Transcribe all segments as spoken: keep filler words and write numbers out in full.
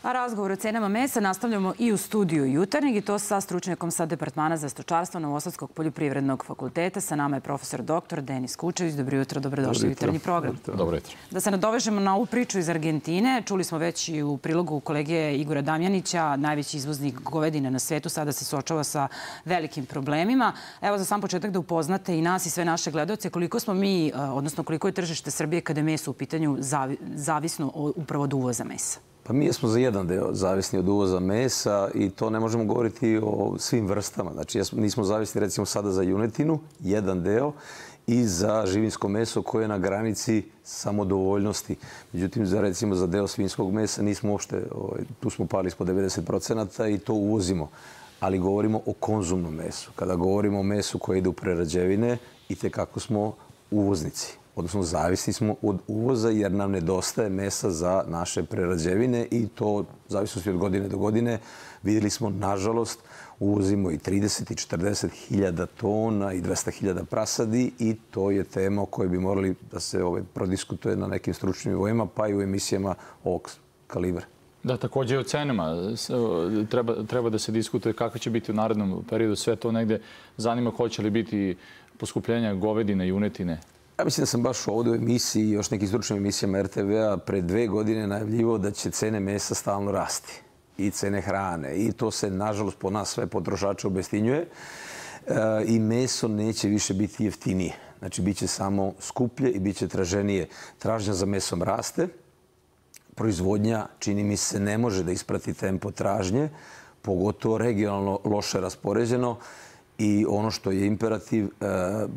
A razgovor o cenama mesa nastavljamo i u studiju Jutarnjeg i to sa stručnjakom sa Departmana za stočarstvo Novosadskog poljoprivrednog fakulteta. Sa nama je profesor doktor Denis Kučević. Dobro jutro, dobrodošli u Jutarnji program. Dobro jutro. Da se nadovežemo na ovu priču iz Argentine. Čuli smo već i u prilogu kolege Igora Damjanića, najveći izvoznik govedine na svetu, sada se suočava sa velikim problemima. Evo za sam početak da upoznate i nas i sve naše gledaoce koliko smo mi, odnosno koliko je tržište Srbije kada je meso u pitanju zavisno upravo od uvoza mesa. Pa mi smo za jedan deo zavisni od uvoza mesa i to ne možemo govoriti o svim vrstama. Znači, nismo zavisni recimo sada za junetinu, jedan deo, i za živinsko meso koje je na granici samodovoljnosti. Međutim, za, recimo za deo svinjskog mesa nismo uopšte, tu smo pali ispod devedeset procenata i to uvozimo. Ali govorimo o konzumnom mesu. Kada govorimo o mesu koje ide u prerađevine, i tekako smo uvoznici. Odnosno, zavisni smo od uvoza jer nam nedostaje mesa za naše prerađevine i to, zavisnosti od godine do godine, vidjeli smo, nažalost, uvozimo i trideset i četrdeset hiljada tona i dvesta hiljada prasadi i to je tema o kojoj bi morali da se ovaj, prodiskutuje na nekim stručnim nivoima, pa i u emisijama ovog kalibra. Da, također i o cenama. Treba, treba da se diskutuje kako će biti u narednom periodu. Sve to negde zanima, hoće li biti poskupljenja govedine, junetine. Ja mislim da sam baš ovdje u emisiji i još nekim stručnim emisijama er te ve a pre dve godine najavljivao da će cene mesa stalno rasti i cene hrane. I to se, nažalost, po nas sve potrošače obestinjuje. E, I meso neće više biti jeftinije. Znači, bit će samo skuplje i bit će traženije. Tražnja za mesom raste. Proizvodnja, čini mi se, ne može da isprati tempo tražnje, pogotovo regionalno loše raspoređeno. I ono što je imperativ,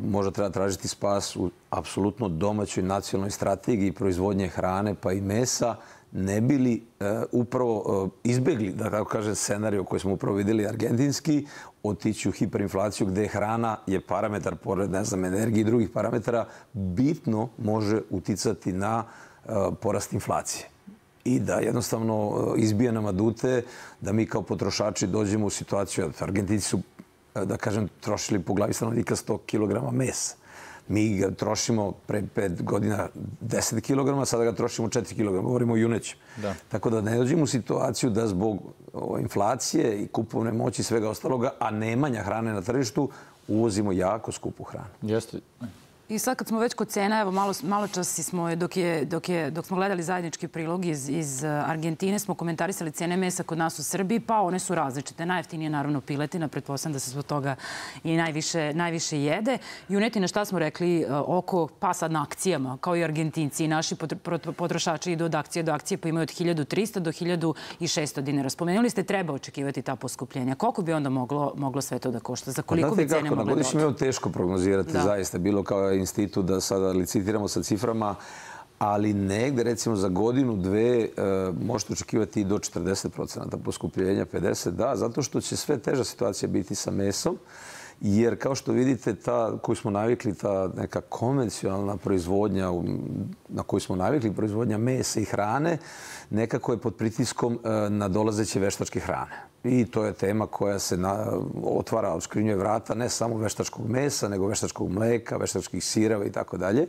možda treba tražiti spas u apsolutno domaćoj nacionalnoj strategiji proizvodnje hrane pa i mesa, ne bili upravo izbjegli, da tako kažem, scenariju koji smo upravo vidjeli argentinski, otići u hiperinflaciju gdje hrana je parametar, pored, ne znam, energije i drugih parametara, bitno može uticati na porast inflacije. I da jednostavno izbije nam adute da mi kao potrošači dođemo u situaciju, Argentinci su, da kažem, trošili po glavi stanovnika sto kilograma mesa. Mi ga trošimo pre pet godina deset kilograma, sada ga trošimo četiri kilograma. Govorimo o junećem. Da. Tako da ne dođemo u situaciju da zbog inflacije i kupovne moći i svega ostaloga, a nemanja hrane na tržištu, uvozimo jako skupu hranu. Jeste. I sad kad smo već kod cena, evo malo, malo čas smo, dok, je, dok, je, dok smo gledali zajednički prilog iz, iz Argentine, smo komentarisali cene mesa kod nas u Srbiji, pa one su različite. Najjeftinije naravno piletina, pretpostavljam da se zbog toga i najviše, najviše jede. Junetina, šta smo rekli, oko, pa sad na akcijama, kao i Argentinci i naši potrošači idu od akcije do akcije, pa imaju od hiljadu trista do hiljadu šesto dinara. Spomenuli ste, treba očekivati ta poskupljenja. Koliko bi onda moglo, moglo sve to da košta? Za koliko bi cene mogle doći? Na godišnjem je teško prognozirati, da. Zaista, bilo kao institut da sada licitiramo sa ciframa, ali negde, recimo, za godinu, dve, e, možete očekivati i do četrdeset procenata poskupljenja, pedeset, da, zato što će sve teža situacija biti sa mesom, jer kao što vidite, ta koju smo navikli, ta neka konvencionalna proizvodnja na koju smo navikli, proizvodnja mesa i hrane, nekako je pod pritiskom e, nadolazeće veštačke hrane. I to je tema koja se na, otvara, odškrinjuje vrata ne samo veštačkog mesa, nego veštačkog mleka, veštačkih sireva i tako dalje.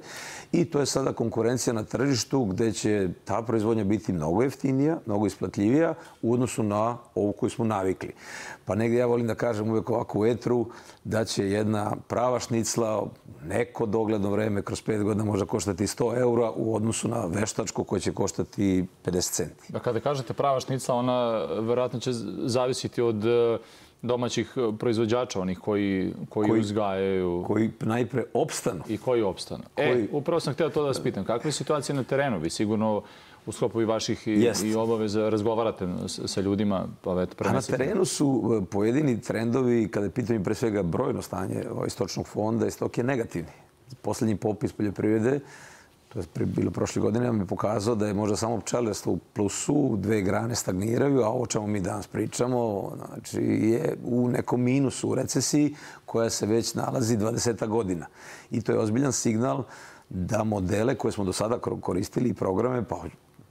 I to je sada konkurencija na tržištu gdje će ta proizvodnja biti mnogo jeftinija, mnogo isplatljivija u odnosu na ovu koju smo navikli. Pa negdje ja volim da kažem uvijek ovako u etru da će jedna prava šnicla neko dogledno vreme kroz pet godina možda koštati sto eura u odnosu na veštačku koja će koštati pedeset centi. Da, kada kažete prava šnicla, ona verovatno će zavisiti od domaćih proizvođača, onih koji, koji, koji uzgajaju. Koji najpre opstanu. I koji opstanu. Koji... E, upravo sam htio to da vas pitam. Kakva je situacija na terenu? Vi sigurno u sklopu i vaših i, i obaveza razgovarate sa ljudima. Pa eto, a na terenu su pojedini trendovi, kada je pitanje pre svega brojno stanje stočnog fonda, i stok je negativni. Posljednji popis poljoprivrede, to je bilo prošle godine, nam je pokazao da je možda samo pčelarstvo u plusu, dve grane stagniraju, a ovo čemu mi danas pričamo, znači je u nekom minusu, u recesiji koja se već nalazi dvadeset godina. I to je ozbiljan signal da modele koje smo do sada koristili i programe, pa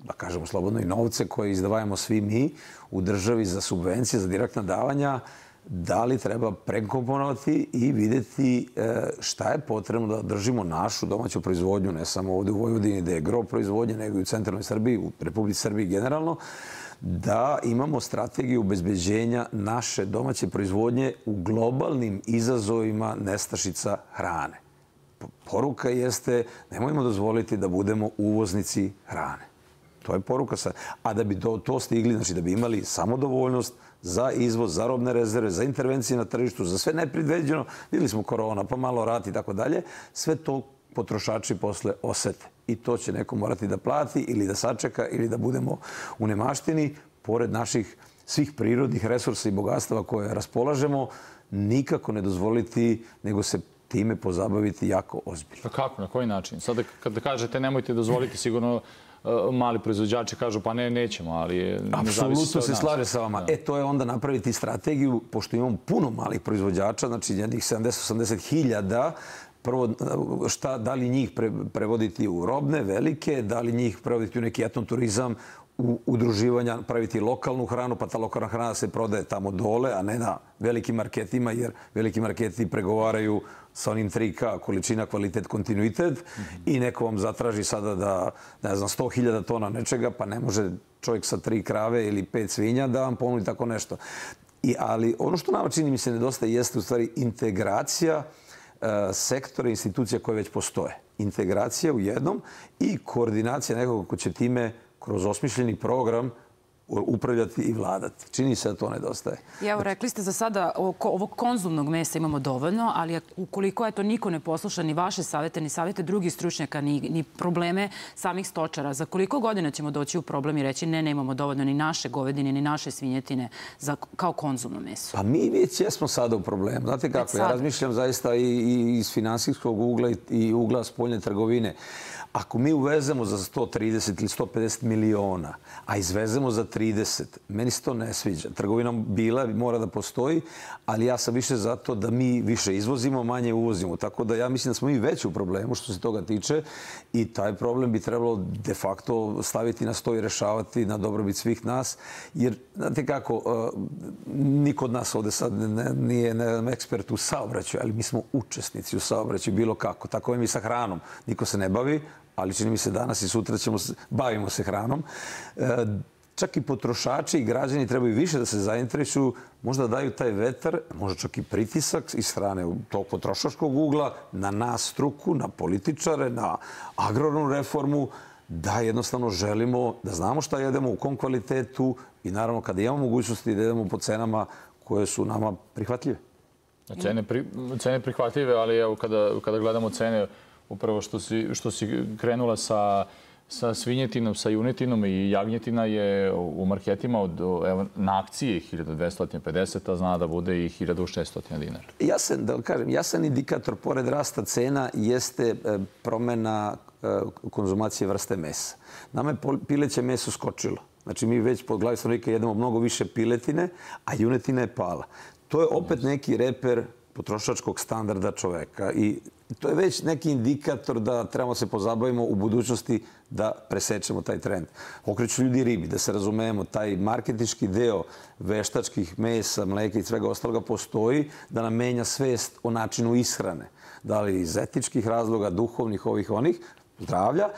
da kažemo slobodno i novce koje izdvajamo svi mi u državi za subvencije, za direktna davanja, da li treba prekomponovati i vidjeti šta je potrebno da držimo našu domaću proizvodnju, ne samo ovdje u Vojvodini gdje je gro proizvodnje, nego i u centralnoj Srbiji, u Republici Srbiji generalno, da imamo strategiju obezbeđenja naše domaće proizvodnje u globalnim izazovima nestašica hrane. Poruka jeste, nemojmo dozvoliti da budemo uvoznici hrane. To je poruka sad. A da bi do to stigli, znači da bi imali samodovoljnost za izvoz, za robne rezerve, za intervencije na tržištu, za sve nepredviđeno, vidjeli smo korona, pa malo rat i tako dalje, sve to potrošači posle osete. I to će neko morati da plati ili da sačeka ili da budemo u nemaštini, pored naših svih prirodnih resursa i bogatstava koje raspolažemo, nikako ne dozvoliti, nego se time pozabaviti jako ozbiljno. A kako? Na koji način? Sada kada kažete nemojte dozvoliti, sigurno mali proizvođači kažu pa ne, nećemo, ali apsolutno se slaže sa vama. E, to je onda napraviti strategiju, pošto imamo puno malih proizvođača, znači jednih sedamdeset do osamdeset hiljada, prvo, šta, da li njih prevoditi u robne, velike, da li njih prevoditi u neki etnoturizam, u udruživanja, praviti lokalnu hranu, pa ta lokalna hrana se prodaje tamo dole, a ne na velikim marketima, jer veliki marketi pregovaraju sa onim tri K, količina, kvalitet, kontinuitet, i neko vam zatraži sada da, ne znam, sto hiljada tona nečega, pa ne može čovjek sa tri krave ili pet svinja da vam ponudi tako nešto. I, ali ono što nama čini mi se nedostaje jeste u stvari integracija uh, sektora i institucija koje već postoje. Integracija u jednom i koordinacija nekog ko će time kroz osmišljeni program upravljati i vladati. Čini se da to nedostaje. I evo, rekli ste za sada ovog konzumnog mesa imamo dovoljno, ali ukoliko eto niko ne posluša ni vaše savete, ni savete drugih stručnjaka, ni, ni probleme samih stočara, za koliko godina ćemo doći u problem i reći ne, ne imamo dovoljno ni naše govedine, ni naše svinjetine za, kao konzumno meso? Pa mi već jesmo sada u problemu. Znate kako, ja razmišljam zaista i, i iz finansijskog ugla i, i ugla spoljne trgovine. Ako mi uvezemo za sto trideset ili sto pedeset miliona, a izvezemo za trideset, meni se to ne sviđa. Trgovina bila, mora da postoji, ali ja sam više zato da mi više izvozimo, manje uvozimo. Tako da ja mislim da smo mi već u problemu što se toga tiče i taj problem bi trebalo de facto staviti na sto i rešavati na dobrobit svih nas. Jer, znate kako, niko od nas ovde sad nije ekspert u saobraćaju, ali mi smo učesnici u saobraćaju bilo kako. Tako je mi sa hranom. Niko se ne bavi, ali čini mi se danas i sutra ćemo se, bavimo se hranom. E, čak i potrošači i građani trebaju više da se zainteresuju, možda daju taj vetar, možda čak i pritisak iz strane tog potrošačkog ugla na nas struku, na političare, na agrarnu reformu, da jednostavno želimo da znamo šta jedemo, u kom kvalitetu i naravno kada imamo mogućnosti da jedemo po cenama koje su nama prihvatljive. Cene, pri, cene prihvatljive, ali evo kada, kada gledamo cene, upravo što si, što si krenula sa, sa svinjetinom, sa junetinom i jagnjetina je u marketima od, evo, na akciji hiljadu dvesta pedeset, a zna da bude i hiljadu šesto dinara. Jasan, da kažem, jasan indikator pored rasta cena jeste promena konzumacije vrste mesa. Nama je pileće meso skočilo. Znači mi već po glavi stanovnika jedemo mnogo više piletine, a junetina je pala. To je opet neki reper potrošačkog standarda čoveka i to je već neki indikator da trebamo se pozabavimo u budućnosti da presečemo taj trend. Okreću ljudi ribi, da se razumemo, taj marketinški deo veštačkih mesa, mleka i svega ostaloga postoji da nam menja svest o načinu ishrane. Da li iz etičkih razloga, duhovnih, ovih, onih, zdravlja,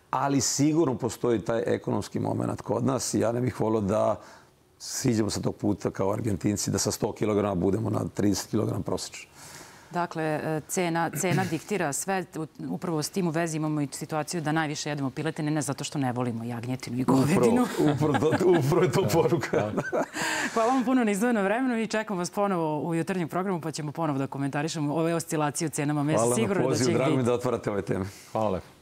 ali sigurno postoji taj ekonomski moment kod nas i ja ne bih volio da siđemo sa tog puta kao Argentinci, da sa sto kilograma budemo na trideset kilograma prosečno. Dakle, cena, cena diktira sve. Upravo s tim u vezi imamo i situaciju da najviše jedemo piletine, ne zato što ne volimo jagnjetinu i govedinu. Upravo je to poruka. Hvala vam puno na izdvojeno vremenu i čekam vas ponovo u jutarnjem programu pa ćemo ponovo da komentarišemo ove oscilacije u cenama mesa. Hvala na pozivu, drago mi da otvarate ove teme. Hvala lepo.